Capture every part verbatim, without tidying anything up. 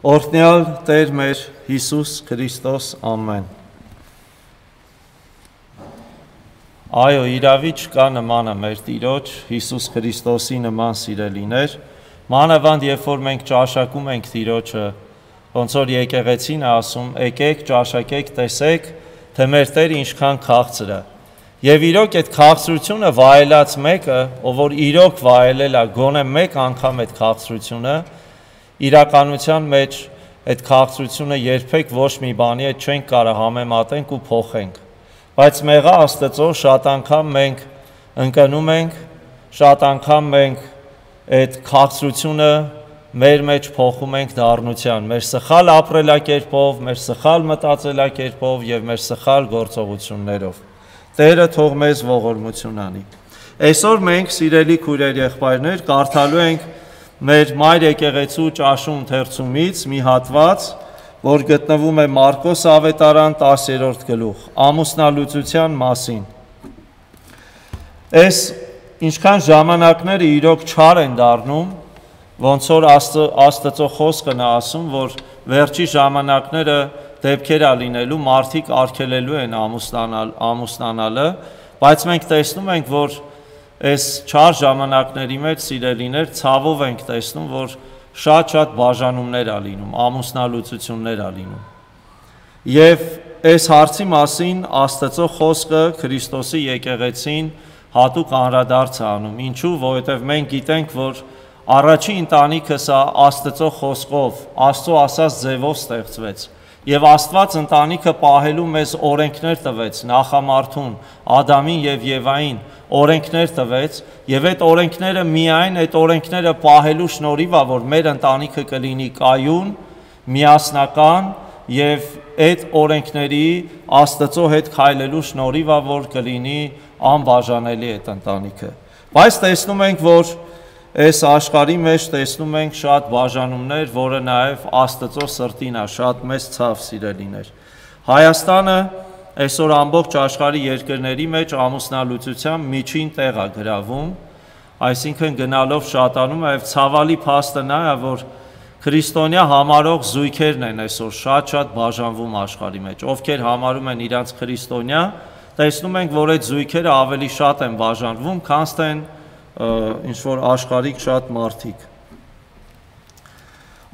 Օրհնյալ Տեր մեր Հիսուս Քրիստոս, ամեն։ Այո, իրավի չկա նմանը մեր Տիրոջ Հիսուս Քրիստոսի նման սիրելիներ, մանավանդ երբ որ մենք ճաշակում ենք Տիրոջը, ոնց որ եկեղեցին է ասում, եկեք, ճաշակեք, տեսեք, թե մեր Տերը ինչքան քաղցր է։ Եվ իրոք այդ քաղցրությունը վայելած մեկը, ով որ իրոք վայելել է գոնե մեկ անգամ այդ քաղցրությունը, իրականության մեջ այդ քաղցրությունը երբեք ոչ մի բանի հետ չենք կարող համեմատենք ու փոխենք։ Բայց մեղա Աստծո շատ անգամ մենք ընկնում ենք, շատ անգամ մենք այդ քաղցրությունը մեր մեջ փոխում ենք դառնության, մեր սխալ ապրելակերպով, մեր սխալ մտածելակերպով եւ մեր սխալ գործողություններով։ Տերը թող մեզ ողորմություն անի։ Այսօր մենք, սիրելի քույրեր, եղբայրներ, կարդալու ենք մեր Մայր եկեղեցու ճաշու ընթերցումից մի հատված, որ գտնվում է Մարկոս ավետարան տասերորդ գլուխ, ամուսնալուծության մասին։ Այս ինչքան ժամանակները իրոք չար են դառնում, ոնց որ Աստծո խոսքն է ասում, որ վերջի ժամանակները դեպքեր ա լինելու, մարդիկ արգելելու են ամուսնանալ, ամուսնանալը, բայց մենք տեսնում ենք, որ այս չար ժամանակների մեջ, սիրելիներ, ցավով ենք տեսնում, որ շատ-շատ բաժանումներ ա լինում, ամուսնալուծություններ ա լինում։ Եվ այս հարցի մասին Աստծո խոսքը Քրիստոսի եկեղեցին հատուկ անդրադարձ է անում։ Ինչու՞, որովհետև մենք գիտենք, որ առաջին ընտանիքը սա Աստծո խոսքով, Աստծո ասած ձևով ստեղծվեց։ Եվ Աստված ընտանիքը պահելու մեզ օրենքներ տվեց, նախամարդուն, Ադամին եւ Եվային օրենքներ տվեց, եւ այդ օրենքները միայն այդ օրենքները պահելու շնորհիվ է, որ մեր ընտանիքը կլինի կայուն, միասնական եւ այդ օրենքների Աստծո հետ քայլելու շնորհիվ է, որ կլինի անբաժանելի այդ ընտանիքը։ Բայց տեսնում ենք, որ այս աշխարհի մեջ տեսնում ենք շատ բաժանումներ, որը նաև Աստծո սրտին է, շատ մեծ ցավ, սիրելիներ։ Հայաստանը այսօր ամբողջ աշխարհի երկրների մեջ ամուսնալուծության միջին տեղ է գրավում, այսինքն գնալով շատանում է, եւ ցավալի փաստը նա է, որ քրիստոնյա համարող զույգերն են այսօր շատ-շատ բաժանվում աշխարհի մեջ, ովքեր համարում են իրանց քրիստոնյա, տեսնում ենք, որ այդ զույգերը ավելի շատ են բաժանվում, քան թե ինչ որ աշխարհիկ շատ մարդիկ։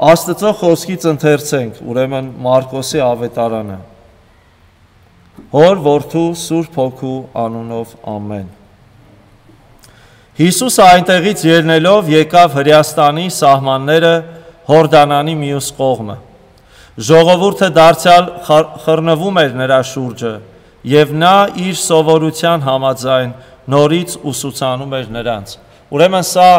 Աստծո խոսքից ընթերցենք, ուրեմն Մարկոսի ավետարանը։ Հոր, Որդու, Սուրբ Հոգու անունով, ամեն։ Հիսուսը այնտեղից ելնելով եկավ Հրեաստանի սահմանները Հորդանանի մյուս կողմը։ Ժողովուրդը դարձյալ խռնվում էր նրա շուրջը, եւ նա իր սովորության համաձայն նորից ուսուցանում էր նրանց։ Ուրեմն սա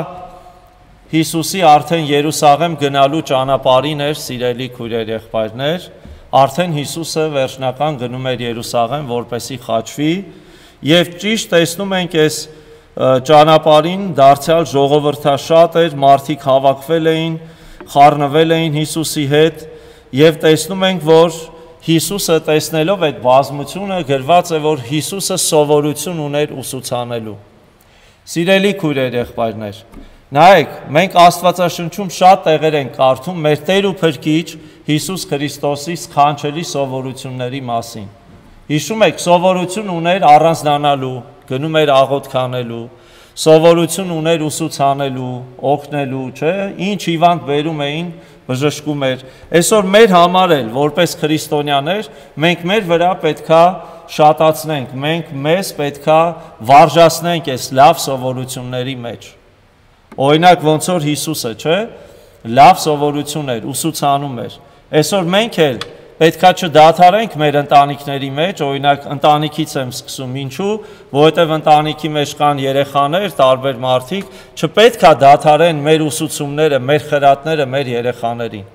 Հիսուսի արդեն Երուսաղեմ գնալու ճանապարհին էր, սիրելի քույրեր, եղբայրներ, արդեն Հիսուսը վերջնական գնում էր Երուսաղեմ, որպեսի խաչվի, եւ ճիշտ տեսնում ենք այս ճանապարհին դարձյալ ժողովրդաշատ էր, մարդիկ հավաքվել էին, խառնվել էին Հիսուսի հետ, եւ տեսնում ենք, որ Հիսուսը տեսնելով այդ բազմությունը գրված է, որ Հիսուսը սովորություն ուներ ուսուցանելու։ Սիրելի քույրեր, եղբայրներ, նայեք, մենք Աստվածաշնչում շատ տեղեր ենք կարդում մեր Տեր ու Փրկիչ Հիսուս Քրիստոսի սքանչելի սովորությունների մասին։ Հիշում եք, սովորություն ուներ առանձնանալու, գնում էր աղոթք անելու, սովորություն ուներ ուսուցանելու, օգնելու, չէ՞, ինչ հիվանդ բերում էին, բժշկում էր։ Այսօր մեր համար էլ, որպես քրիստոնյաներ, մենք մեր վրա պետքա շատացնենք, մենք մեզ պետքա վարժացնենք այս լավ սովորությունների մեջ։ Օրինակ, ոնց որ Հիսուսը, չէ՞, լավ սովորություն էր, ուսուցանում էր։ Այսօր մենք էլ պետքա չդադարենք մեր ընտանիքների մեջ, օրինակ ընտանիքից եմ սկսում, ինչու, որովհետև ընտանիքի մեջ կան երեխաներ, տարբեր մարդիկ, չպետքա դադարեն մեր ուսուցումները, մեր խրատները մեր երեխաներին։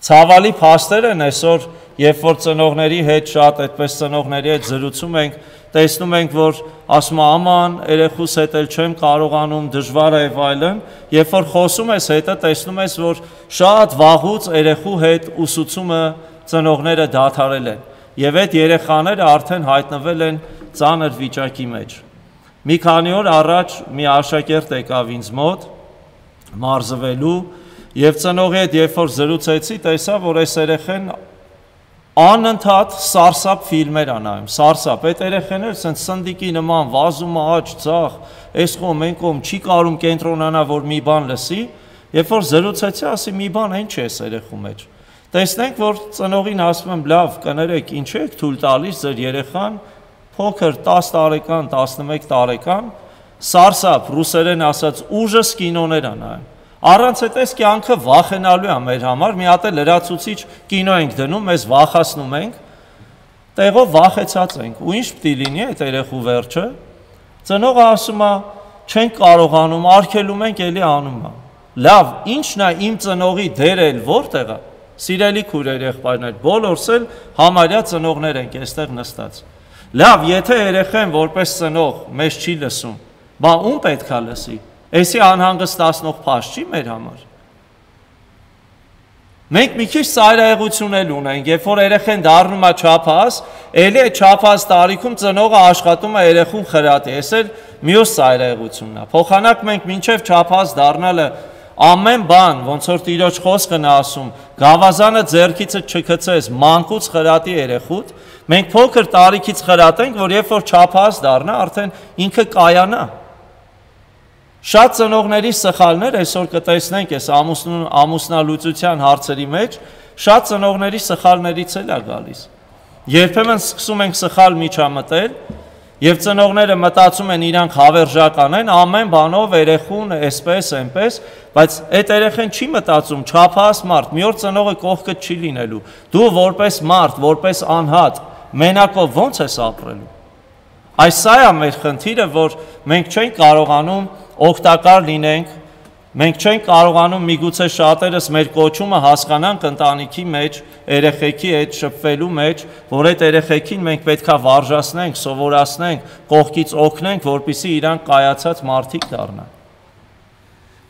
Ցավալի փաստեր են այսօր, երբ որ ծնողների հետ շատ այդպես ծնողների հետ զրուցում ենք, տեսնում ենք, որ ասում է աման, երեխուս հետ էլ չեմ կարողանում, դժվար է եւ այլն, երբ որ խոսում ես հետը, տեսնում ես, որ շատ վաղուց երեխու հետ ուսուցումը ծնողները դադարել են եւ այդ երեխաները արդեն հայտնվել են ծանր վիճակի մեջ։ Մի քանի օր առաջ մի աշակերտ եկավ ինձ մոտ մարզվելու Եվ ծնողի հետ երբ որ զրուցեցի, տեսա, որ այս երեխեն անընդհատ սարսափ ֆիլմեր անայում, սարսափ, այդ երեխեները սենց սնդիկի նման վազում է աջ, ցախ, այս կողմ, այն կողմ, չի կարում կենտրոնանա, որ մի բան լսի, երբ որ զրուցեցի, ասի մի բան այն չի այս երեխու մեջ։ Տեսնենք, որ ծնողին ասում եմ, լավ, կներեք, ինչ եք թույլ տալիս ձեր երեխան, փոքր տասը տարեկան, տասնմեկ տարեկան, սարսափ, ռուսերեն ասած ուժս կինոներ անայում։ Առանց այդ այս կյանքը վախենալու է մեր համար, մի հատ լրացուցիչ կինո ենք դնում, մեզ վախացնում ենք, տեղով վախեցած ենք, ու ինչ պիտի լինի այդ երեխու վերջը, ծնողը ասում է, չենք կարողանում, արգելում ենք, էլի անում է։ Լավ, ինչն է իմ ծնողի դերը որտեղ է, սիրելի քույրեր եղբայրներ, բոլորս էլ համարյա ծնողներ ենք այստեղ նստած։ Լավ, եթե երեխան որպես ծնող մեզ չի լսում, բա ում պետք է լսի։ Էսի անհանգստացնող փաստ չի մեր համար։ Մենք մի քիչ ծայրահեղություն էլ ունենք, երբ որ երեխան դառնում է չափահաս, էլի այդ չափահաս տարիքում ծնողը աշխատում է երեխուն խրատի, էս էլ մյուս ծայրահեղությունն է։ Փոխանակ մենք մինչև չափահաս դառնալը ամեն բան, ոնց որ Տիրոջ խոսքն է ասում, գավազանը ձեռքիցը չգցես, մանկուց խրատի երեխուդ, մենք փոքր տարիքից խրատենք, որ երբ որ չափահաս դառնա, արդեն ինքը կայանա։ Շատ ծնողների սխալներ այսօր կտեսնենք այս ամուսնալուծության հարցերի մեջ, շատ ծնողների սխալներից էլ է գալիս։ Երբեմն սկսում ենք սխալ միջամտել, եւ ծնողները մտածում են իրանք հավերժական են, ամեն բանով երեխուն էսպես, այնպես, բայց այդ երեխան չի մտածում, չափահաս մարդ, մի օր ծնողը կողքը չի լինելու։ Դու որպես մարդ, որպես անհատ, մենակով ո՞նց ես ապրելու։ Այս սա է մեր խնդիրը, որ մենք չենք կարողանում օգտակար լինենք, մենք չենք կարողանում միգուցե շատերս մեր կոչումը հասկանանք ընտանիքի մեջ, երեխեքի հետ շփվելու մեջ, որ այդ երեխեքին մենք պետքա վարժացնենք, սովորացնենք, կողքից օգնենք, որպեսզի իրանք կայացած մարդիկ դառնան։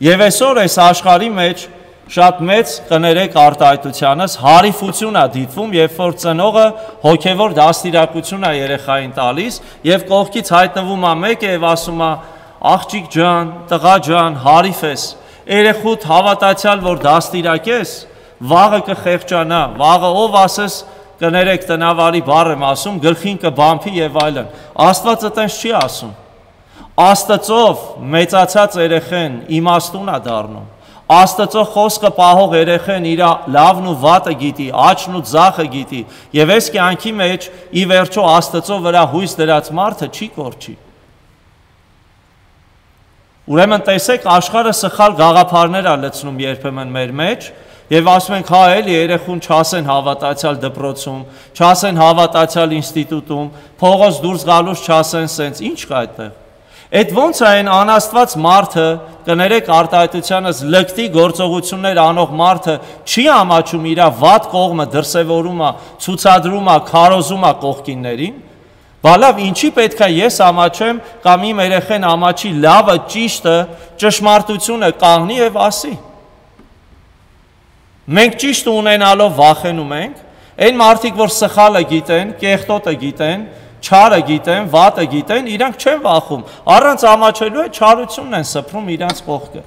Եվ այսօր այս աշխարհի մեջ շատ մեծ կներեք արտահայտությանս հարիֆություն է դիտվում, երբ որ ծնողը հոգևոր դաստիարակություն է երեխային տալիս եւ կողքից հայտնվում է մեկը եւ ասում է աղջիկ ջան, տղա ջան, հարիֆ ես, երեխուդ հավատացյալ, որ դաստիարակես, վաղը կխեղճանա, վաղը ով ասես կներեք տնավարի բառ եմ ասում, գլխին կբամփի եւ այլն։ Աստվածը տենց չի ասում։ Աստծով մեծացած երեխեն իմաստուն է դառնում։ Աստծո խոսքը պահող երեխեն իր լավն ու վատը գիտի, աճն ու ձախը գիտի, եւ այս կյանքի մեջ ի վերջո Աստծո վրա հույս դրած մարդը չի կորչի։ Ուրեմն տեսեք, աշխարհը սխալ գաղափարներ է լցնում երբեմն մեր մեջ եւ ասում ենք, հա էլի երեխուն չասեն հավատացյալ դպրոցում, չասեն հավատացյալ ինստիտուտում, փողոց դուրս գալուց չասեն սենց, ինչ կա այդտեղ։ Այդ ոնց է այն անաստված մարդը, կներեք արտահայտությանս լկտի գործողություններ անող մարդը չի ամաչում իր վատ կողմը դրսևորում է, ցուցադրում է, քարոզում է կողքիններին։ Բա լավ, ինչի պետք է ես ամաչեմ կամ իմ երեխեն ամաչի լավը, ճիշտը, ճշմարտությունը կանգնի եւ ասի։ Մենք ճիշտ ունենալով վախենում ենք, այն մարդիկ, որ սխալը գիտեն, կեղտոտը գիտեն, չարը գիտեն, վատը գիտեն, իրանք չեն վախում, առանց ամաչելու է չարությունն են սփռում իրանց կողքը։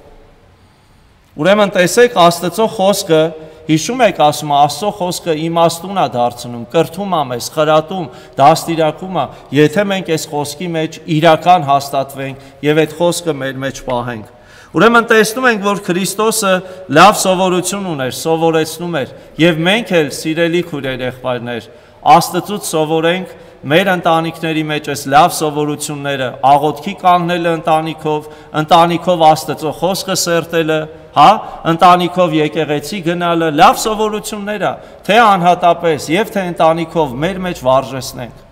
Ուրեմն տեսեք, Աստծո խոսքը, հիշում եք ասում, Աստծո խոսքը իմաստուն է դարձնում, կրթում է մեզ, խրատում, դաստիարակում է, եթե մենք այս խոսքի մեջ իրական հաստատվենք եւ այդ խոսքը մեր մեջ պահենք։ Ուրեմն տեսնում ենք, որ Քրիստոսը լավ սովորություն ուներ, սովորեցնում էր, եւ մենք էլ սիրելի քույրեր եղբայրներ, Աստծուց սովորենք մեր ընտանիքների մեջ այս լավ սովորությունները, աղոթքի կանգնելը ընտանիքով, ընտանիքով Աստծո խոսքը սերտելը, հա, ընտանիքով եկեղեցի գնալը, լավ սովորություններ է, թե անհատապես եւ թե ընտանիքով մեր մեջ վարժեցնենք։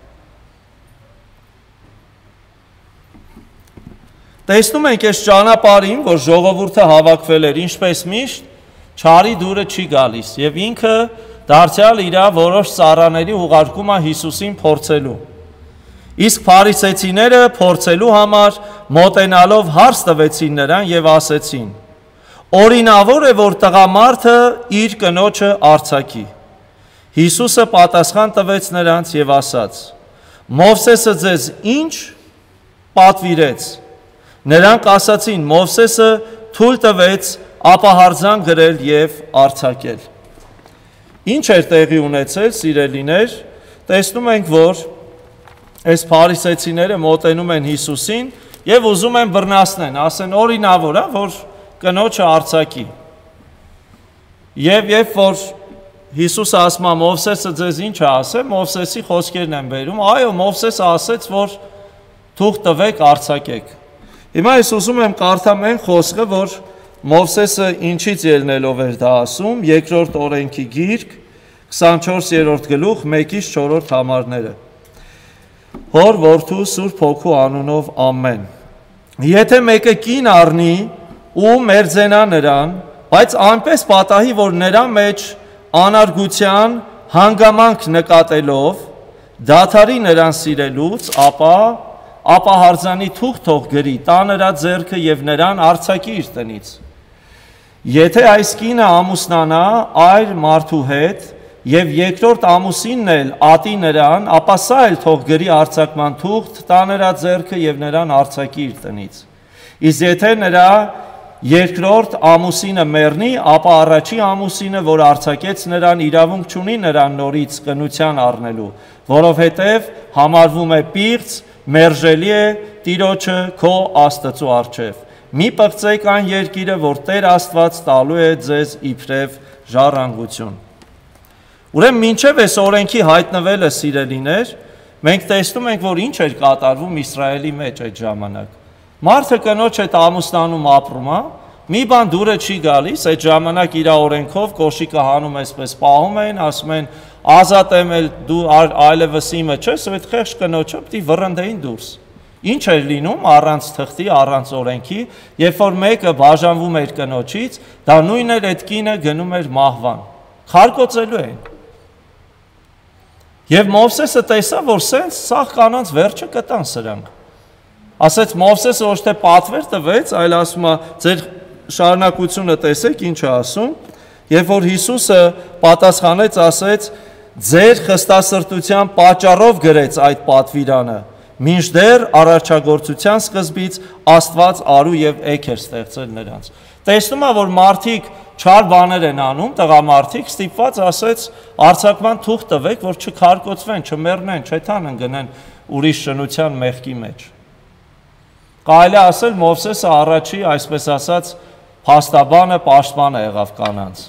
Տեսնում ենք այս ճանապարհին, որ ժողովուրդը հավաքվել էր, ինչպես միշտ, չարի դուրը չի գալիս եւ ինքը դարձյալ իր որոշ ծառաների ուղարկում է Հիսուսին փորձելու։ Իսկ փարիսեցիները փորձելու համար մոտենալով հարց տվեցին նրան եւ ասեցին. Օրինավոր է, որ տղամարդը իր կնոջը արձակի։ Հիսուսը պատասխան տվեց նրանց եւ ասաց. Մովսեսը ձեզ ինչ պատվիրեց։ Նրանք ասացին. Մովսեսը թույլ տվեց ապահարձան գրել եւ արձակել։ Ինչ էր տեղի ունեցել, սիրելիներ, տեսնում ենք, որ այս փարիսեցիները մոտենում են Հիսուսին եւ ուզում են բռնացնեն, ասեն օրինավոր է, որ կնոջը արձակի։ Եվ երբ որ Հիսուսը ասում է Մովսեսը ձեզ ինչ է ասել, Մովսեսի խոսքերն են բերում, այո, Մովսեսը ասեց, որ թուղթ տվեք, արձակեք։ Հիմա ես ուզում եմ կարդամ այն խոսքը, որ Մովսեսը ինչից ելնելով էր դա ասում, երկրորդ օրենքի գիրք, քսանչորսերորդ գլուխ, մեկից չորրորդ համարները։ Հոր որդու Սուրբ Հոգու անունով ամեն։ Եթե մեկը կին առնի ու մերձենա նրան, բայց այնպես պատահի, որ նրա մեջ անարգության հանգամանք նկատելով, դադարի նրան սիրելուց, ապա ապահարձանի թուղթ թող գրի, տա նրա ձեռքը եւ նրան արձակի իր տնից։ Եթե այս կինը ամուսնանա այլ մարդու հետ եւ երկրորդ ամուսինն էլ ատի նրան, ապա սա էլ թող գրի արձակման թուղթ, տա նրա ձեռքը եւ նրան արձակի իր տնից։ Իսկ եթե նրա երկրորդ ամուսինը մեռնի, ապա առաջի ամուսինը, որ արձակեց նրան, իրավունք չունի նրան նորից կնության առնելու, որովհետև համարվում է պիղծ, մերժելի է Տիրոջը քո Աստծու առջև։ Մի պղծեք այն երկիրը, որ Տեր Աստված տալու է ձեզ իբրև ժառանգություն։ Ուրեմն մինչև այս օրենքի հայտնվելը, սիրելիներ, մենք տեսնում ենք, որ ինչ էր կատարվում Իսրայելի մեջ այդ ժամանակ։ Մարդը կնոջ հետ ամուսնանում ապրում է, մի բան դուրը չի գալիս, այդ ժամանակ իր օրենքով կոշիկը հանում այսպես պահում են, ասում են ազատ եմ էլ դու այլևս իմը չես, այդ խեղճ կնոջը պիտի վռնդեին դուրս։ Ինչ էր լինում առանց թղթի, առանց օրենքի, երբ որ մեկը բաժանվում էր կնոջից, դա նույն էր այդ կինը գնում էր մահվան։ Քարկոծելու էին։ Եվ Մովսեսը տեսավ, որ սենց սաղ կանանց վերջը կտան սրանք։ Ասեց Մովսեսը ոչ թե պատվեր տվեց, այլ ասում է ձեր շարունակությունը տեսեք ինչ է ասում, երբ որ Հիսուսը պատասխանեց, ասեց ձեր խստասրտության պատճառով գրեց այդ պատվիրանը, մինչդեռ առաջագործության սկզբից Աստված արու եւ էգ էր ստեղծել նրանց։ Տեսնում է, որ մարդիկ չար բաներ են անում, տղամարդիկ ստիպված ասեց արձակման թուղթ տվեք, որ չքարկոծվեն, չմեռնեն, չեթանեն գնեն ուրիշ շնության մեղքի մեջ։ Կարելի է ասել Մովսեսը առաջի, այսպես ասած, փաստաբանը, պաշտպանը եղավ կանանց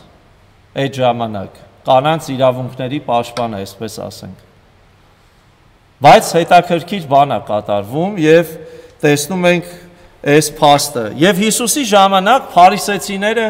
այդ ժամանակ, կանանց իրավունքների պաշտպանը, այսպես ասենք։ Բայց հետաքրքիր բան է կատարվում եւ տեսնում ենք այս փաստը։ Եվ Հիսուսի ժամանակ փարիսեցիները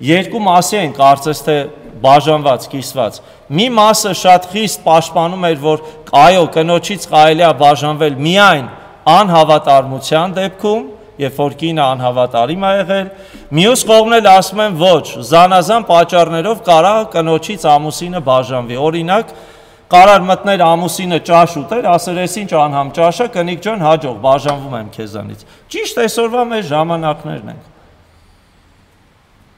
երկու մասի են կարծես թե բաժանված, կիսված։ Մի մասը շատ խիստ պաշտպանում էր, որ այո, կնոջից կարելի է բաժանվել միայն անհավատարմության դեպքում, երբ որ կինը անհավատարիմ է եղել, մյուս կողմն էլ ասում են ոչ, զանազան պատճառներով կարա կնոջից ամուսինը բաժանվի։ Օրինակ, կարար մտներ ամուսինը ճաշ ուտեր, ասեր ես ինչ անհամ ճաշը, կնիկ ջան, հաջող բաժանվում եմ քեզանից։ Ճիշտ այսօրվա մեր ժամանակներն են։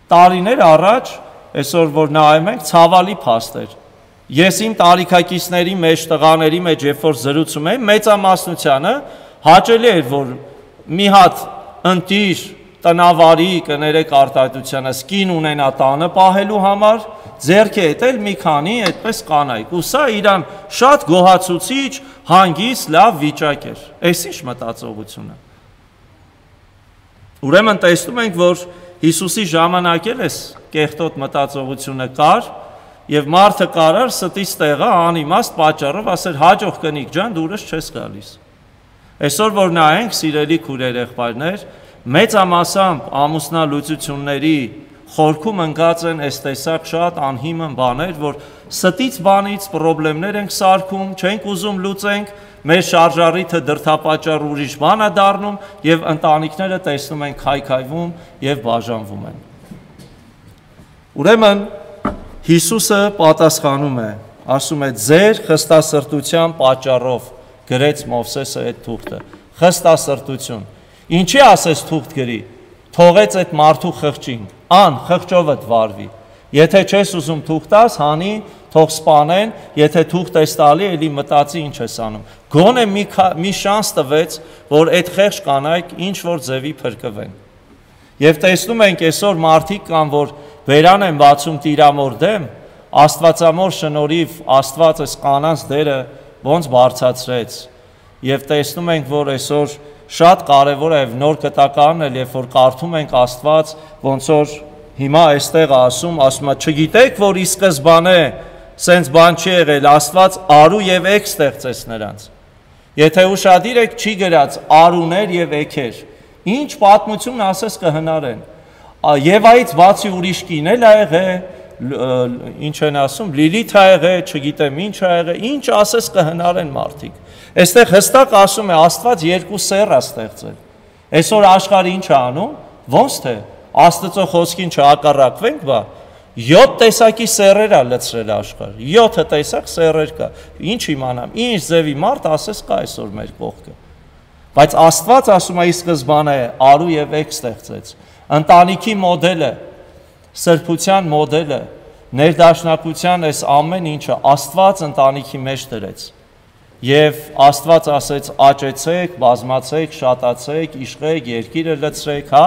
Տարիներ առաջ, այսօր որ նայում ենք, ցավալի փաստ էր։ Ես իմ տարիքակիցների մեջ, տղաների մեջ, երբ որ զրուցում եմ, մեծամասնությանը հաճելի էր, որ մի հատ ընտիր տնավարի կներեք արտահայտությանը սկին ունենա տանը պահելու համար, ձեռքի հետ էլ մի քանի այդպես կանայք, ու սա իրան շատ գոհացուցիչ, հանգիստ, լավ վիճակ էր։ Այս ինչ մտածողությունը։ Ուրեմն տեսնում ենք, որ Հիսուսի ժամանակ էլ էս կեղտոտ մտածողությունը կար, եւ մարդը կարար ստից տեղը անիմաստ պատճառով ասել հաջող կնիկ ջան, դուրս չես գալիս։ Այսօր որ նայենք, սիրելի քուրեր եղբայրներ, մեծամասամբ ամուսնալուծությունների խորքում ընկած են այս տեսակ շատ անհիմն բաներ, որ ստից բանից խնդիրներ ենք սարքում, չենք ուզում լուծենք, մեր շարժառիթը դրդապատճառ ուրիշ բան է դառնում եւ ընտանիքները տեսնում են քայքայվում եւ բաժանվում են։ Ուրեմն Հիսուսը պատասխանում է, ասում է ձեր խստասրտության պատճառով գրեց Մովսեսը այդ թուղթը, խստասրտություն։ Ինչի ասես թուղթ գրի, թողեց այդ մարդու խղճին, ան խղճովդ վարվի, եթե չես ուզում թուղթ տաս, հանի, թող սպանեն, եթե թուղթ ես տալի, էլի մտածի ինչ ես անում, գոնե մի, մի շանս տվեց, որ այդ խեղճ կանայք ինչ որ ձևի փրկվեն։ Եվ տեսնում ենք այսօր մարդիկ կան, որ վերան են բացում տիրամոր դեմ, Աստվածամոր շնորհիվ Աստված այս կանանց դերը ոնց բարձրացրեց։ Եվ տեսնում ենք, որ այսօր շատ կարևոր է նոր կտականն էլ, երբ որ կարդում ենք Աստված, ոնց որ հիմա այստեղ ասում, ասում է, չգիտեք, որ ի սկզբանե սենց բան չի եղել, Աստված արու եւ էգ ստեղծեց նրանց։ Եթե ուշադիր եք, չի գրած արուներ եւ էգեր։ Ինչ պատմություն ասես կհնարեն։ Եվայից բացի ուրիշ կին էլ ա եղել, ինչ են ասում, Լիլիթ ա եղել, չգիտեմ ինչ ա եղել, ինչ ասես կհնարեն մարդիկ։ Այստեղ հստակ ասում է Աստված երկու սեռ է ստեղծել։ Այսօր աշխարհը ինչ է անում, ոնց թե Աստծո խոսքին չհակառակվենք, բա յոթ տեսակի սեռեր է լցրել աշխարհը, յոթ տեսակ սեռեր կա։ Ինչ իմանամ, ինչ ձևի մարդ ասես կա այսօր մեր կողքը։ Բայց Աստված ասում է ի սկզբանե արու եւ էգ ստեղծեց։ Ընտանիքի մոդելը, սրբության մոդելը, ներդաշնակության այս ամեն ինչը Աստված ընտանիքի մեջ դրեց։ Եվ Աստված ասեց աճեցեք, բազմացեք, շատացեք, իշխեք, երկիրը լցրեք, հա։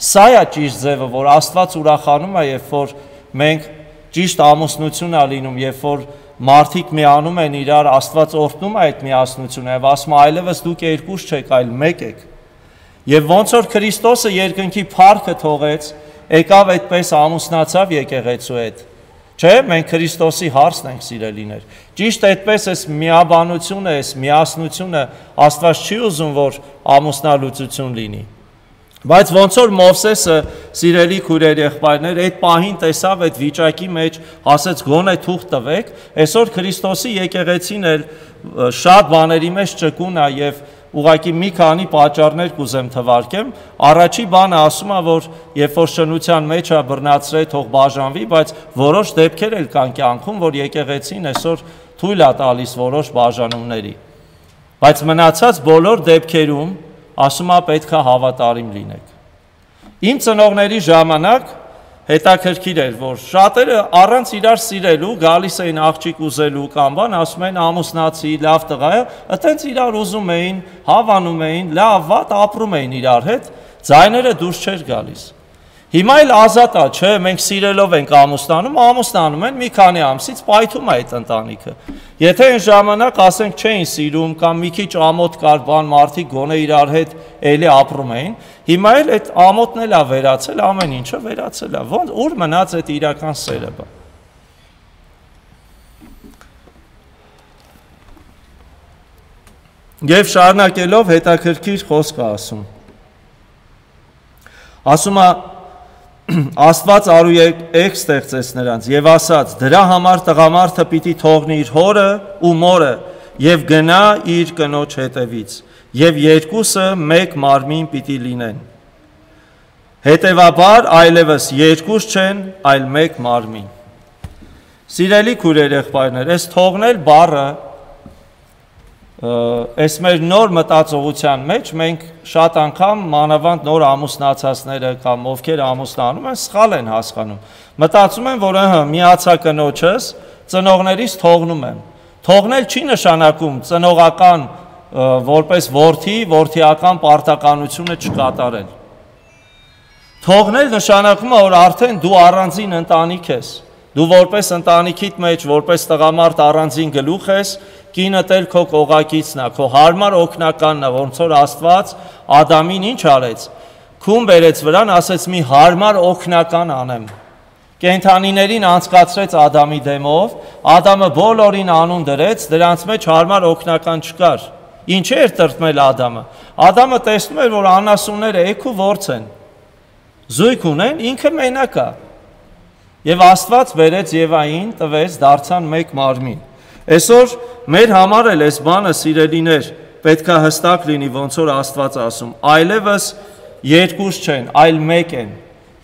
Սա է ճիշտ ձևը, որ Աստված ուրախանում է, երբ որ մենք ճիշտ ամուսնություն է լինում, երբ որ մարդիկ միանում են իրար, Աստված օրհնում է այդ միասնությունը եւ ասում է այլևս դուք երկուս չեք, այլ մեկ եք։ Եվ ոնց որ Քրիստոսը երկնքի փառքը թողեց, եկավ այդպես ամուսնացավ եկեղեցու հետ։ Չէ, մենք Քրիստոսի հարցն ենք սիրելիներ։ Ճիշտ այդպես էս միաբանությունը, էս միասնությունը Աստված չի ուզում, որ ամուսնալուծություն լինի։ Բայց ոնց որ Մովսեսը, սիրելի քույրեր եղբայրներ, այդ պահին տեսավ այդ վիճակի մեջ, ասեց գոնե թուղթ տվեք, այսօր Քրիստոսի եկեղեցին էլ շատ բաների մեջ ճկուն է եւ ուղղակի մի քանի պատճառներ կուզեմ թվարկեմ։ Առաջի բանը ասում է, որ երբ որ շնության մեջ է բռնացրել, թող բաժանվի, բայց որոշ դեպքեր էլ կան կյանքում, որ եկեղեցին այսօր թույլ է տալիս որոշ բաժանումների։ Բայց մնացած բոլոր դեպքերում ասում է պետք է հավատարիմ լինեք։ Իմ ծնողների ժամանակ հետաքրքիր էր, որ շատերը առանց իրար սիրելու գալիս էին աղջիկ ուզելու կամ բան, ասում են ամուսնացի, լավ տղա է, այտենց իրար ուզում էին, հավանում էին, լավ վատ ապրում էին իրար հետ, ձայները դուրս չէր գալիս։ Հիմա էլ ազատ է, չէ, մենք սիրելով ենք ամուսնանում, ամուսնանում են մի քանի ամսից պայթում է այդ ընտանիքը։ Եթե այն ժամանակ ասենք չէին սիրում կամ մի քիչ ամոթ կար բան մարդիկ գոնե իրար հետ էլի ապրում էին, հիմա էլ այդ ամոթն էլ է վերացել, ամեն ինչը վերացել է։ Ոնց ուր մնաց այդ իրական սերը բա։ Եվ շարունակելով հետաքրքիր խոսք է ասում։ Ասում է Աստված արու էգ ստեղծեց նրանց եւ ասաց դրա համար տղամարդը պիտի թողնի իր հորը ու մորը եւ գնա իր կնոջ հետևից եւ երկուսը մեկ մարմին պիտի լինեն հետեւաբար այլևս երկուս չեն այլ մեկ մարմին Սիրելի քույրեր եղբայրներ այս թողնել բառը Այս մեր նոր մտածողության մեջ մենք շատ անգամ մանավանդ նոր ամուսնացածները կամ ովքեր ամուսնանում են սխալ են հասկանում։ Մտածում են, որ ըհը միացա կնոջս, ծնողներից թողնում եմ։ Թողնել չի նշանակում ծնողական որպես որդի, որդիական պարտականությունը չկատարել։ Թողնել նշանակում է, որ արդեն դու առանձին ընտանիք ես։ Դու որպես ընտանիքիդ մեջ, որպես տղամարդ առանձին գլուխ ես, կինդ էլ քո կողակիցն է, քո հարմար օգնականն է, ոնց որ Աստված Ադամին ինչ արեց։ Քուն բերեց վրան, ասեց մի հարմար օգնական անեմ։ Կենդանիներին անցկացրեց Ադամի դեմով, Ադամը բոլորին անուն դրեց, դրանց մեջ հարմար օգնական չկար։ Ինչ էր տրտմել Ադամը։ Ադամը տեսնում էր, որ անասունները էգու ворց են։ Զույգ ունեն, ինքը մենակ է։ Եվ Աստված բերեց Եվային, տվեց, դարձան մեկ մարմին։ Այսօր մեր համար էլ այս բանը սիրելիներ պետք է հստակ լինի, ոնց որ Աստված ասում, այլևս երկուս չեն, այլ մեկ են։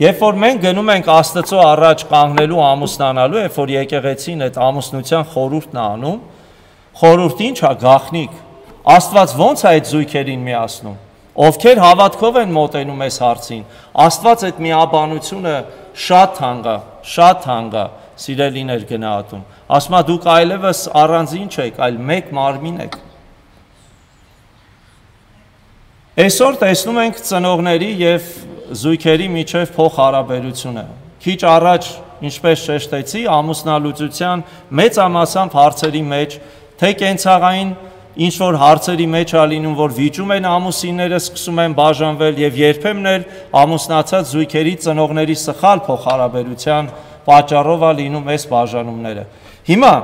Երբ որ մենք գնում ենք Աստծո առաջ կանգնելու ամուսնանալու, երբ որ եկեղեցին այդ ամուսնության խորհուրդն է անում, խորհուրդ ինչ է գաղտնիք։ Աստված ո՞նց է այդ զույգերին միացնում։ Ովքեր հավատքով են մոտենում այս հարցին, Աստված այդ միաբանությունը շատ թանկ է, շատ թանկ է, սիրելիներ գնահատում։ Ասում է դուք այլևս առանձին չեք, այլ մեկ մարմին եք։ Այսօր տեսնում ենք ծնողների եւ զույգերի միջև փոխհարաբերությունը։ Քիչ առաջ, ինչպես շեշտեցի, ամուսնալուծության մեծամասամբ հարցերի մեջ, թե կենցաղային ինչ որ հարցերի մեջ ա լինում, որ վիճում են ամուսինները, սկսում են բաժանվել եւ երբեմն էլ ամուսնացած զույգերի ծնողների սխալ փոխհարաբերության պատճառով ա լինում այս բաժանումները։ Հիմա,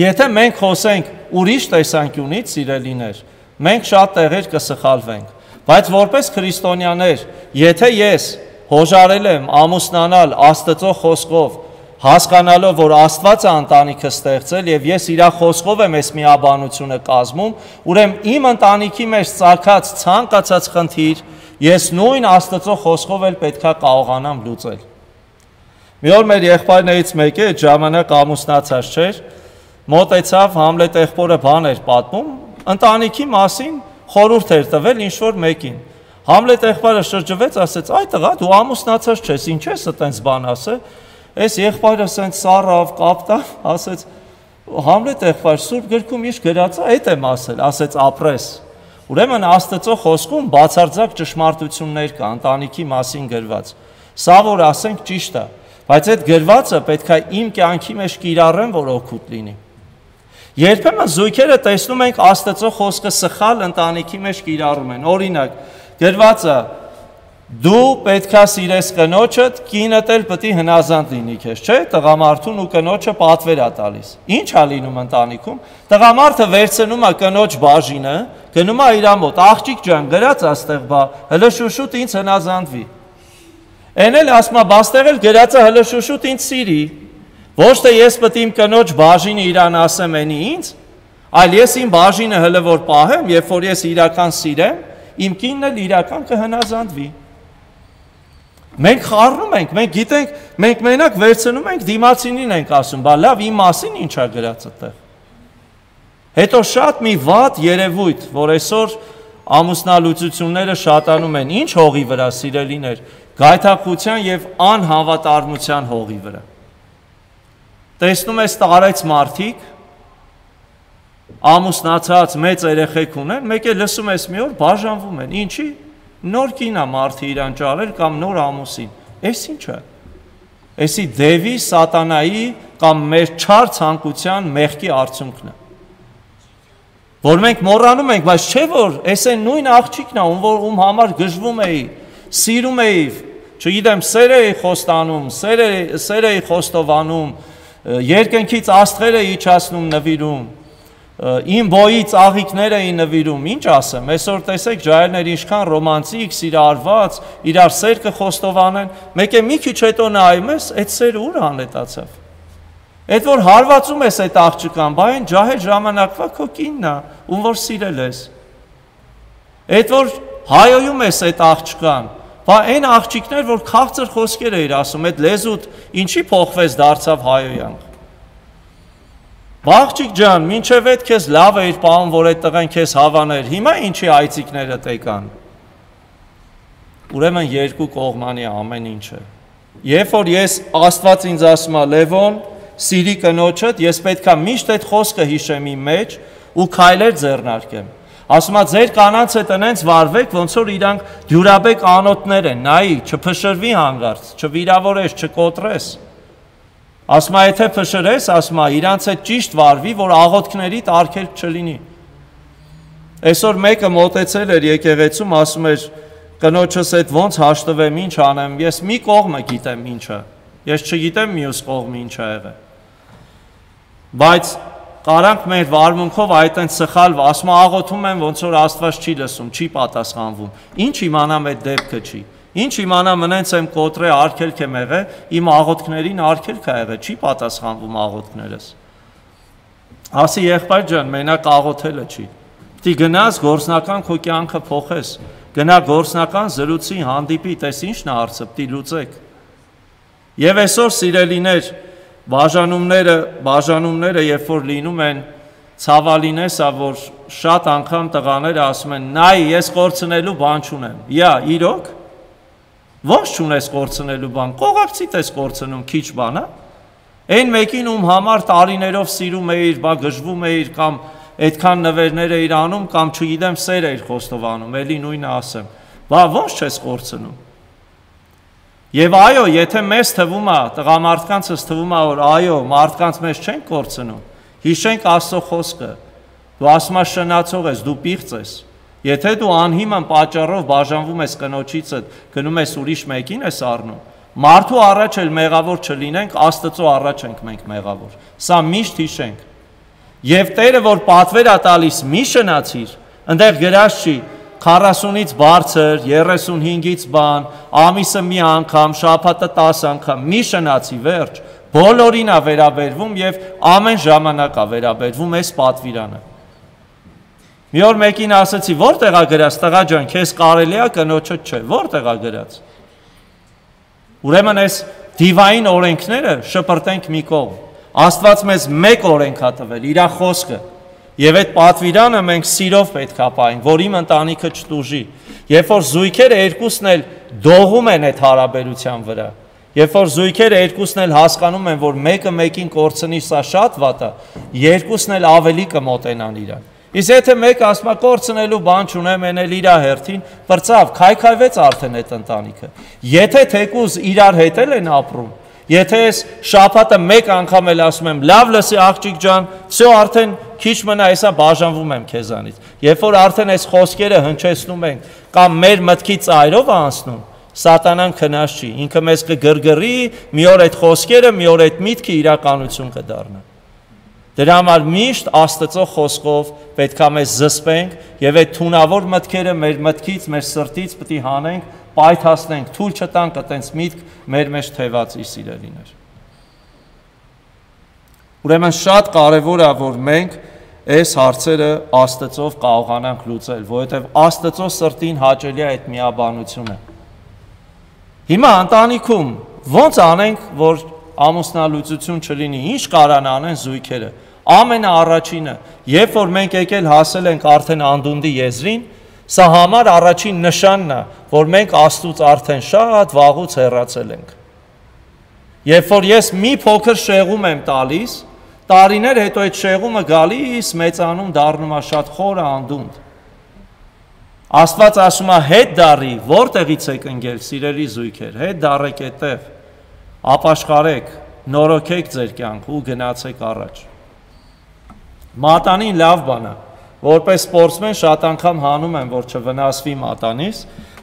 եթե մենք խոսենք ուրիշ տեսանկյունից, սիրելիներ, մենք շատ տեղեր կսխալվենք, բայց որպես քրիստոնյաներ, եթե ես հոժարել եմ ամուսնանալ Աստծո խոսքով, հասկանալով, որ Աստված է ընտանիքը ստեղծել եւ ես իր խոսքով եմ այս միաբանությունը կազմում, ուրեմն իմ ընտանիքի մեջ ծագած ցանկացած խնդիր ես նույն Աստծո խոսքով էլ պետքա կարողանամ լուծել։ Մի օր մեր եղբայրներից մեկը այդ ժամանակ ամուսնացած չէր, մոտեցավ Համլետ եղբորը բան էր պատմում, ընտանիքի մասին խորհուրդ էր տվել ինչ որ մեկին։ Համլետ եղբայրը շրջվեց, ասեց. «Այ տղա, դու ամուսնացած չես, ինչ ես այտենց բան ասել»։ Այս եղբայրը ասենց սառավ, կապտավ, ասեց. «Համլետ եղբայր, Սուրբ գրքում ինչ գրած է, այդ եմ ասել», ասեց. «Ապրես»։ Ուրեմն Աստծո խոսքում բացարձակ ճշմարտություններ կա ընտանիքի մասին գրված։ Սա որ ասենք ճիշտ է, բայց այդ գրվածը պետք է իմ կյանքի մեջ կիրառեմ, որ օգուտ լինի։ Երբեմն զույգերը տեսնում ենք Աստծո խոսքը սխալ ընտանիքի մեջ կիրառում են։ Օրինակ, գրվածը դու պետքա սիրես կնոջդ, կինդ էլ պետք է հնազանդ լինի քեզ, չէ՞, տղամարդուն ու կնոջը պատվեր է տալիս։ Ինչ է լինում ընտանիքում։ Տղամարդը վերցնում է կնոջ բաժինը, գնում է իր մոտ, աղջիկ ջան, գրած աստեղ բա, հələ շուշուտ ինձ հնազանդվի։ Էն էլ ասում է, բաստեղ էլ գրած է հələ շուշուտ ինձ սիրի։ Ոչ թե ես պետք է իմ կնոջ բաժինը իրան ասեմ էնի ինձ, այլ ես իմ բաժինը հələ որ պահեմ, երբ որ ես իրական սիրեմ, իմ կինն էլ իրական կհնազանդվի։ Մենք խառնում ենք, մենք գիտենք, մենք մենակ վերցնում ենք դիմացինին ենք ասում, բա լավ իմ մասին ինչ է գրած այդտեղ։ Հետո շատ մի վատ երևույթ, որ այսօր ամուսնալուծությունները շատանում են, ինչ հողի վրա, սիրելիներ, գայթակղության եւ անհավատարմության հողի վրա։ Տեսնում ես տարեց մարդիկ, ամուսնացած մեծ երեխեք ունեն, մեկ է լսում ես մի օր բաժանվում են, ինչի։ Նոր կին է մարդը իրան ճարել կամ նոր ամուսին, այս ինչ է, այսի դևի, սատանայի կամ մեր չար ցանկության մեղքի արդյունքն է, որ մենք մոռանում ենք, բայց չէ որ այս է նույն աղջիկն է, ում որ ում համար գժվում էի, սիրում էի, չգիտեմ, սեր էի խոստանում, սեր էի խոստովանում, երկնքից աստղեր էի իջացնում նվիրում, իմ բոյից աղիքներ էին նվիրում, ինչ ասեմ, այսօր տեսեք ջահելներ ինչքան ռոմանտիկ, սիրարված, իրար սեր կխոստովանեն, մեկ է մի քիչ հետո նայում ես, այդ սերը ուր անետացավ։ Այդ որ հարվածում ես այդ աղջկան, բա այն ջահել ժամանակվա քո կինն է, ում որ սիրել ես։ Այդ որ հայոյում ես այդ աղջկան, բա այն աղջիկներ, որ քաղցր խոսքեր էիր ասում, այդ լեզուդ ինչի փոխվեց դարձավ հայոյանք։ Աղջիկ ջան, մինչև այդ քեզ լավ էիր պահում, որ այդ տղան քեզ հավաներ, հիմա ինչի այցիկները տեկան։ Ուրեմն երկու կողմանի ամեն ինչը։ Երբ որ ես Աստված ինձ ասում է Լևոն, սիրի կնոջդ, ես պետքա միշտ այդ խոսքը հիշեմ իմ մեջ ու քայլեր ձեռնարկեմ։ Ասում է ձեր կանանց հետ այնց վարվեք, ոնց որ իրանք դյուրաբեկ անոթներ են, նայի, չփշրվի հանգարց, չվիրավորես, չկոտրես։ Ասում է, եթե փշրես, ասում է, իրանց հետ ճիշտ վարվի, որ աղոթքների արգելք չլինի։ Այսօր մեկը մոտեցել էր եկեղեցում, ասում էր, կնոջս հետ ոնց հաշտվեմ, ինչ անեմ, ես մի կողմը գիտեմ ինչը, ես չգիտեմ մյուս կողմը ինչ ա եղել։ Բայց կարանք մեր վարմունքով այդտենց սխալ, ասում է, աղոթում եմ, ոնց որ Աստված չի լսում, չի պատասխանվում։ Ինչ իմանամ այդ դեպքը չի։ Ինչ իմանամ մնենց եմ կոտրե արգելք եմ եղել, իմ աղոթքներին արգելք ա եղել, չի պատասխանվում աղոթքներս։ Ասի եղբայր ջան, մենակ աղոթելը չի։ Պիտի գնաս գործնական քո կյանքը փոխես, գնա գործնական զրույցի հանդիպի, տես ինչն է հարցը, պիտի լուծեք։ Եվ այսօր սիրելիներ, բաժանումները, բաժանումները երբ որ լինում են, ցավալինես է, որ շատ անգամ տղաները ասում են, նայ, ես կորցնելու բան չունեմ։ Յա, իրոք Ոնց չունես կորցնելու բան, կողակցիդ ես կորցնում քիչ բան, հա։ Այն մեկին ում համար տարիներով սիրում էիր, բա գժվում էիր կամ այդքան նվերներ էիր անում կամ չգիտեմ սեր էիր խոստովանում, էլի նույնը ասեմ։ Բա ոնց չես կորցնում։ Եվ այո, եթե մեզ թվում է, տղամարդկանցս թվում է, որ այո, մարդկանց մեզ չենք կորցնում, հիշենք Աստծո խոսքը, դու ասում ես շնացող ես, դու պիղծ ես, եթե դու անհիմն պատճառով բաժանվում ես կնոջիցդ, գնում ես ուրիշ մեկին ես առնում, մարդու առաջ էլ մեղավոր չլինենք, Աստծո առաջ ենք մենք մեղավոր, սա միշտ հիշենք, և Տերը, որ պատվեր է տալիս մի շնացիր, ընդեղ գրած չի, քառասունից բարձր, երեսունհինգից բան, ամիսը մի անգամ, շաբաթը տաս անգամ, մի շնացի վերջ, բոլորին է վերաբերվում և ամեն ժամանակ է վերաբերվում այս պատվիրանը։ Մի օր մեկին ասեցի, որտեղ է գրած, տղա ջան, քեզ կարելի է, կնոջդ չէ, որտեղ է գրած։ Ուրեմն այս դիվային օրենքները շպրտենք մի կողմ։ Աստված մեզ մեկ օրենք է տվել, իր խոսքը։ Եվ այդ պատվիրանը մենք սիրով պետք է պահենք, որ իմ ընտանիքը չտուժի։ Երբ որ զույգերը երկուսն էլ դողում են այդ հարաբերության վրա, երբ որ զույգերը երկուսն էլ հասկանում են, որ մեկը մեկին կորցնի, սա շատ վատ է, երկուսն էլ ավելի կմոտենան իրան։ Իսկ եթե մեկը ասում է կորցնելու բան չունեմ, են էլ իր հերթին, բրծավ, քայքայվեց արդեն այդ ընտանիքը։ Եթե թեկուզ իրար հետ են ապրում, եթե ես շաբաթը մեկ անգամ էլ ասում եմ, լավ լսի աղջիկ ջան, всё արդեն քիչ մնա, հեսա բաժանվում եմ քեզանից։ Երբ որ արդեն այս խոսքերը հնչեցնում ենք կամ մեր մտքի ծայրով անցնում, սատանան քնած չի, ինքը մեզ կգրգռի, մի օր այդ խոսքերը, մի օր այդ միտքը իրականություն կդառնա։ Դրա համար միշտ Աստծո խոսքով պետք է մեզ զսպենք եւ այդ թունավոր մտքերը մեր մտքից, մեր սրտից պետք է հանենք, պայթացնենք, թույլ չտանք այտենց միտք մեր մեջ թևածի սիրելիներ։ Ուրեմն շատ կարևոր է, որ մենք այս հարցերը Աստծով կարողանանք լուծել, որովհետև Աստծո սրտին հաճելի է այդ միաբանությունը։ Հիմա ընտանիքում ո՞նց անենք, որ ամուսնալուծություն չլինի, ինչ կարան անեն զույգերը։ Ամենաառաջինը, երբ որ մենք եկել հասել ենք արդեն անդունդի եզրին, սա համար առաջին նշանն է, որ մենք Աստծուց արդեն շատ վաղուց հեռացել ենք։ Երբ որ ես մի փոքր շեղում եմ տալիս, տարիներ հետո այդ շեղումը գալիս, մեծանում, դառնում է շատ խորը անդունդ։ Աստված ասում է հետ դառի, որտեղից եք ընկել, սիրելի զույգեր, հետ դառեք այդտեղ, ապաշխարեք, նորոգեք ձեր կյանք ու գնացեք առաջ։ Մատանին լավ բան է, որպես սպորտսմեն շատ անգամ հանում եմ, որ չվնասվի մատանիս,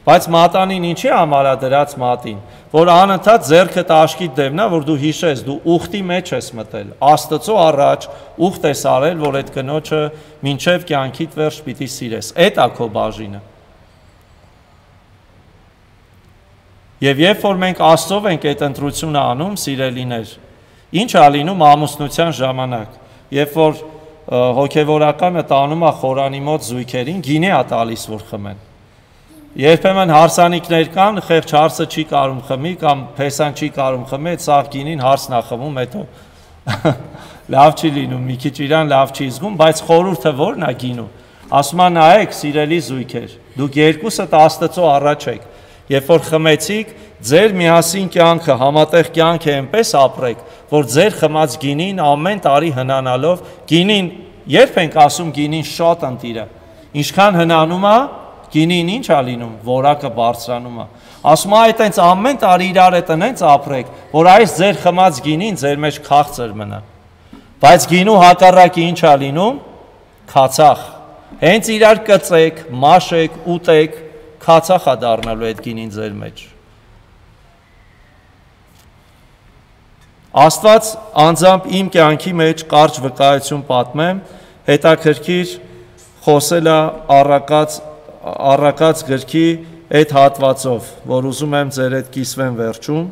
բայց մատանին ինչի համար է դրած մատին, որ անընդհատ ձեռքդ աշկիդ դեմնա, որ դու հիշես, դու ուխտի մեջ ես մտել, Աստծո առաջ ուխտ ես արել, որ այդ կնոջը մինչև կյանքիդ վերջ պիտի սիրես, այդ է քո բաժինը։ Եվ երբ որ մենք Աստծով ենք այդ ընտրությունը անում, սիրելիներ, ինչ է լինում ամուսնության ժամանակ, երբ որ հոգևորականը տանում է խորանի մոտ զույգերին, գինի է տալիս, որ խմեն։ Երբեմն հարսանիքներ կան, խեղճ հարսը չի կարում խմի կամ փեսան չի կարում խմի, այդ սաղ գինին հարսն է խմում, հետո լավ չի լինում, մի քիչ իրան լավ չի զգում, բայց խորհուրդը ո՞րն է գինու։ Ասում է նայեք, սիրելի զույգեր, դուք երկուսդ Աստծո առաջ եք, երբ որ խմեցիք, ձեր միասին կյանքը, համատեղ կյանքը այնպես ապրեք, որ ձեր խմած գինին ամեն տարի հնանալով, գինին, երբ ենք ասում գինին շատ ընտիր է, ինչքան հնանում է, գինին ինչ է լինում, որակը բարձրանում է։ Ասում է այդ այնց ամեն տարի իրար հետ այնց ապրեք, որ այս ձեր խմած գինին ձեր մեջ քաղցր մնա։ Բայց գինու հակառակը ինչ է լինում, քացախ։ Հենց իրար կծեք, մաշեք, ուտեք, քացախ է դառնալու այդ գինին ձեր մեջ։ Աստված անձամբ իմ կյանքի մեջ կարճ վկայություն պատմեմ, հետաքրքիր խոսել է առակած առակած գրքի այդ հատվածով, որ ուզում եմ ձեր հետ կիսվեմ վերջում։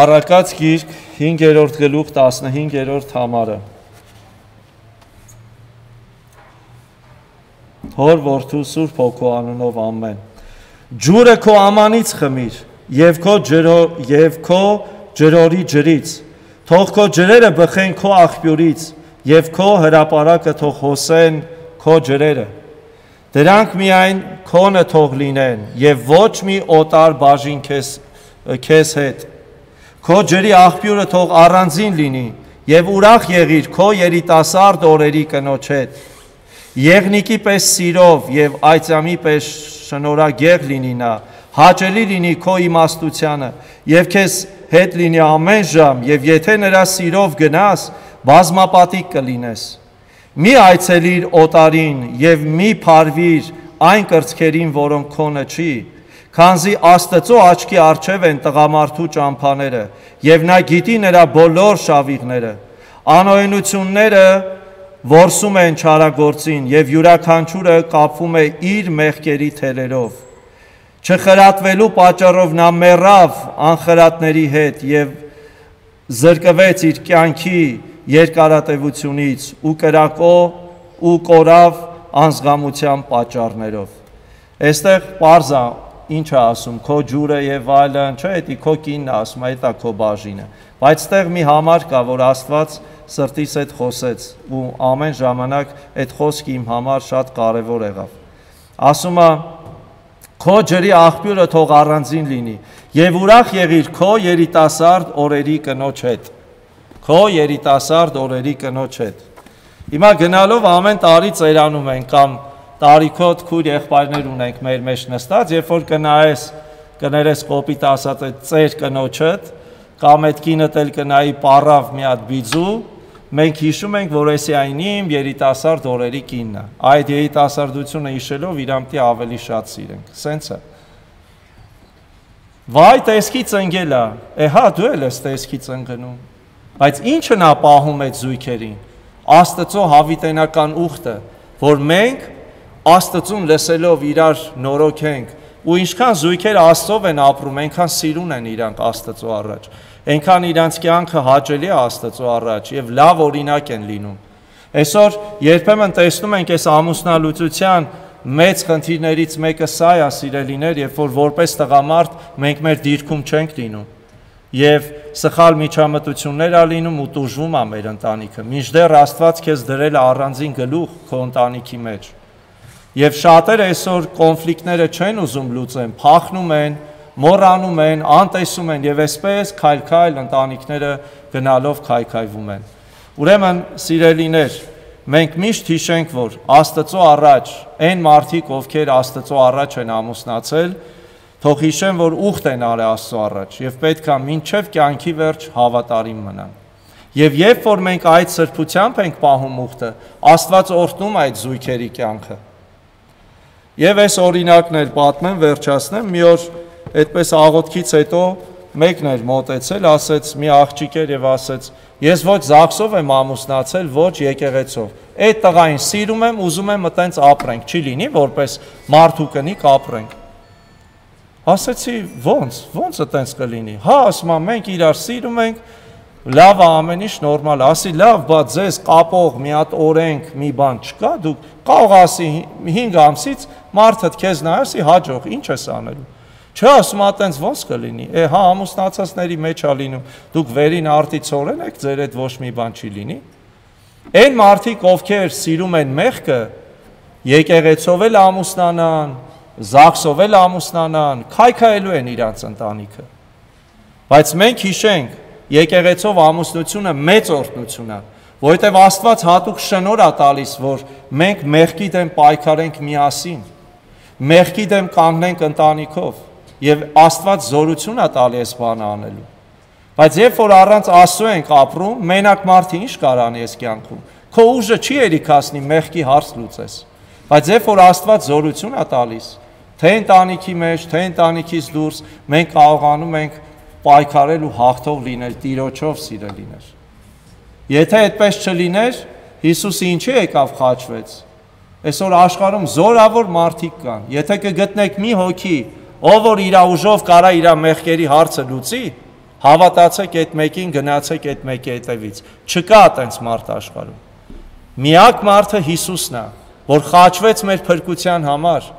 Առակած գիրք հինգերորդ գլուխ տասնհինգերորդ համարը։ Հոր որդու Սուրբ Հոգու անունով ամեն։ Ջուրը քո ամանից խմիր, եւ քո ջրո եւ քո ջրորի ջրից, թող քո ջրերը բխեն քո աղբյուրից, եւ քո հրապարակը թող հոսեն քո ջրերը։ Դրանք միայն քոնը թող լինեն, եւ ոչ մի օտար բաժին քեզ քեզ հետ։ Քո ջրի աղբյուրը թող առանձին լինի, եւ ուրախ եղիր քո երիտասարդ օրերի կնոջ հետ։ Եղնիկի պես սիրով եւ այծամի պես շնորհագեղ լինի նա, հաճելի լինի քո իմաստությանը եւ քեզ հետ լինի ամեն ժամ եւ եթե նրա սիրով գնաս, բազմապատիկ կլինես։ Մի այցելիր օտարին եւ մի փարվիր այն կրծքերին, որոնք քոնը չի, քանզի Աստծո աչքի առջև են տղամարդու ճամփաները եւ նա գիտի նրա բոլոր շավիղները։ Անօյնությունները որսում են չարագործին եւ յուրաքանչյուրը կապվում է իր մեղքերի թելերով։ Չխրատվելու պատճառով նա մեռավ անխրատների հետ եւ զրկվեց իր կյանքի երկարատևությունից ու կրակո ու կորավ անզգամության պատճառներով։ Այստեղ պարզա ինչ է ասում, քո ջուրը եւ այլն, չէ, դա քո կինն է ասում, դա քո բաժինը։ Բայց այստեղ մի համար կա, որ Աստված սրտիս հետ խոսեց ու ամեն ժամանակ այդ խոսքը իմ համար շատ կարևոր եղավ։ Ասում է. քո ջրի աղբյուրը թող առանձին լինի եւ ուրախ եղիր քո երիտասարդ օրերի կնոջ հետ։ Քո երիտասարդ օրերի կնոջ հետ։ Հիմա գնալով ամեն տարի ծերանում ենք կամ տարիքոտ քույր եղբայրներ ունենք մեր մեջ նստած, երբ որ կնայես, կներես կոպիտ ասած այդ ծեր կնոջդ, կամ այդ կինդ էլ կնայի պարավ մի հատ բիձու, մենք հիշում ենք, որ էսի այն իմ երիտասարդ օրերի կինն է։ Այդ երիտասարդությունը հիշելով իրան պիտի ավելի շատ սիրենք։ Սենց է։ Վայ, տեսքից ընկել է։ Է հա, դու էլ ես տեսքից ընկնում։ Բայց ի՞նչը նա պահում այդ զույգերին։ Աստծո հավիտենական ուխտը, որ մենք Աստծուն լսելով իրար նորոգենք ու ինչքան զույգերը Աստծով են ապրում, այնքան սիրուն են իրանք Աստծո առաջ, այնքան իրանց կյանքը հաճելի է Աստծո առաջ եւ լավ օրինակ են լինում։ Այսօր երբեմն տեսնում ենք այս ամուսնալուծության մեծ խնդիրներից մեկը սա է, սիրելիներ, երբ որ որպես տղամարդ մենք մեր դիրքում չենք լինում եւ սխալ միջամտություններ ա լինում ու տուժվում է մեր ընտանիքը։ Մինչդեռ Աստված քեզ դրել է առանձին գլուխ քո ընտանիքի մեջ։ Եվ շատերը այսօր կոնֆլիկտները չեն ուզում լուծեն, փախնում են, մոռանում են, անտեսում են եւ այսպես քայլ-քայլ ընտանիքները գնալով քայքայվում են։ Ուրեմն, սիրելիներ, մենք միշտ հիշենք, որ Աստծո առաջ, այն մարդիկ, ովքեր Աստծո առաջ են ամուսնացել, թող հիշեն, որ ուխտ են արել Աստծո առաջ եւ պետք է մինչեւ կյանքի վերջ հավատարիմ մնան։ Եվ երբ որ մենք այդ սրբությամբ ենք պահում ուխտը, Աստված օրհնում է այդ զույգերի կյանքը։ Եվ այս օրինակն էլ պատմեմ, վերջացնեմ, մի օր այդպես աղոթքից հետո մեկն էր մոտեցել, ասեց մի աղջիկ էր եւ ասեց. ես ոչ Զաքսով եմ ամուսնացել, ոչ եկեղեցով։ Այդ տղային սիրում եմ, ուզում եմ այտենց ապրենք, չի լինի, որպես մարդու կնիկ ապրենք։ Ասեցի, ո՞նց, ո՞նց այտենց կլինի։ Հա, ասում եմ, մենք իրար սիրում ենք, լավ է ամեն ինչ նորմալ, ասի լավ, բայց ձեզ կապող մի հատ օրենք, մի բան չկա, դուք կարող ասի հինգ ամսից մարդդ քեզ նայեցի հաջող, ինչ ես անելու։ Չէ, ասում այտենց ո՞նց կլինի։ Է, հա, ամուսնացածների մեջ է լինում, դուք վերին արտիցորեն եք, ձեր հետ ոչ մի բան չի լինի։ Այն մարդիկ, ովքեր սիրում են մեղքը, եկեղեցով էլ ամուսնանան, Զաքսով էլ ամուսնանան, քայքայելու են իրանց ընտանիքը։ Բայց մենք հիշենք, եկեղեցով ամուսնությունը մեծ օրհնություն է, որովհետև Աստված հատուկ շնորհ է տալիս, որ մենք մեղքի դեմ պայքարենք միասին, մեղքի դեմ կանգնենք ընտանիքով, եւ Աստված զորություն է տալի այս բանը անելու։ Բայց երբ որ առանց Աստծո ենք ապրում, մենակ մարդը ինչ կարանի այս կյանքում։ Քո ուժը չի երիքասնի մեղքի հարց լուծես։ Բայց երբ որ Աստված զորություն է տալիս, թե ընտանիքի մեջ, թե ընտանիքից դուրս, մենք կարողանում ենք պայքարել ու հաղթող լինել Տիրոջով, սիրելիներ։ Եթե այդպես չլիներ, Հիսուսը ինչի եկավ խաչվեց։ Այսօր աշխարհում զորավոր մարդիկ կան։ Եթե կգտնեք մի հոգի, ով որ իր ուժով կարա իր մեղքերի հարցը լուծի, հավատացեք այդ մեկին, գնացեք այդ մեկի հետևից։ Չկա այտենց մարդ աշխարհում։ Միակ մարդը Հիսուսն է, որ խաչվեց մեր փրկության համար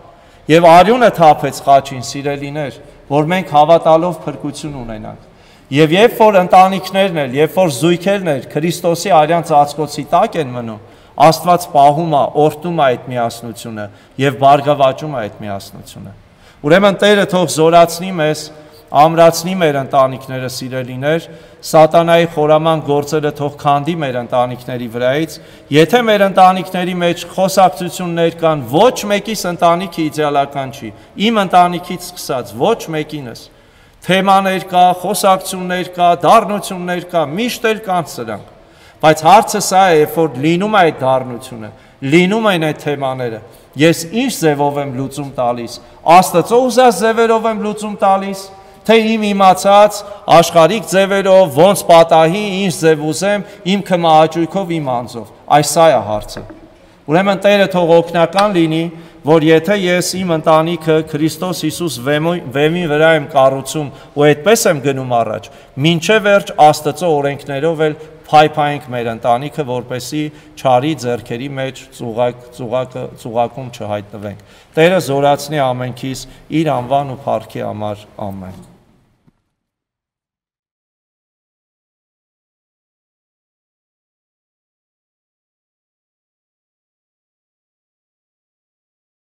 եւ արյունը թափեց խաչին, սիրելիներ, որ մենք հավատալով փրկություն ունենանք։ Եվ երբ որ ընտանիքներն էլ, երբ որ զույգերն էլ Քրիստոսի արյան ծածկոցի տակ են մնում, Աստված պահում է, օրհնում է այդ միասնությունը եւ բարգավաճում է այդ միասնությունը։ Ուրեմն Տերը թող զորացնի մեզ ամրացնի մեր ընտանիքները սիրելիներ, սատանայի խորաման գործերը թող քանդի մեր ընտանիքների վրայից, եթե մեր ընտանիքների մեջ խոսակցություններ կան, ոչ մեկիս ընտանիքը իդեալական չի, իմ ընտանիքից սկսած, ոչ մեկինս, թեմաներ կա, խոսակցություններ կա, դառնություններ կա, միշտ էլ կան սրանք, բայց հարցը սա է, երբ որ լինում է այդ դառնությունը, լինում են այդ թեմաները, ես ինչ ձևով եմ լուծում տալիս, Աստծո ուզած ձևերով եմ լուծում տալիս, թե իմ իմացած աշխարհիկ ձևերով, ոնց պատահի, ինչ ձև ուզեմ, իմ քմահաճույքով, իմ անձով, այս սա է հարցը, ուրեմն Տերը թող օգնական լինի, որ եթե ես իմ ընտանիքը Քրիստոս Հիսուս վեմի վրա եմ կառուցում ու այդպես եմ գնում առաջ, մինչև վերջ Աստծո օրենքներով էլ փայփայենք մեր ընտանիքը, որպեսզի չարի ձեռքերի մեջ ծուղակ, ծուղակը, ծուղակում չհայտնվենք։ Տերը զորացնի ամենքիս իր անվան ու փառքի համար, ամեն։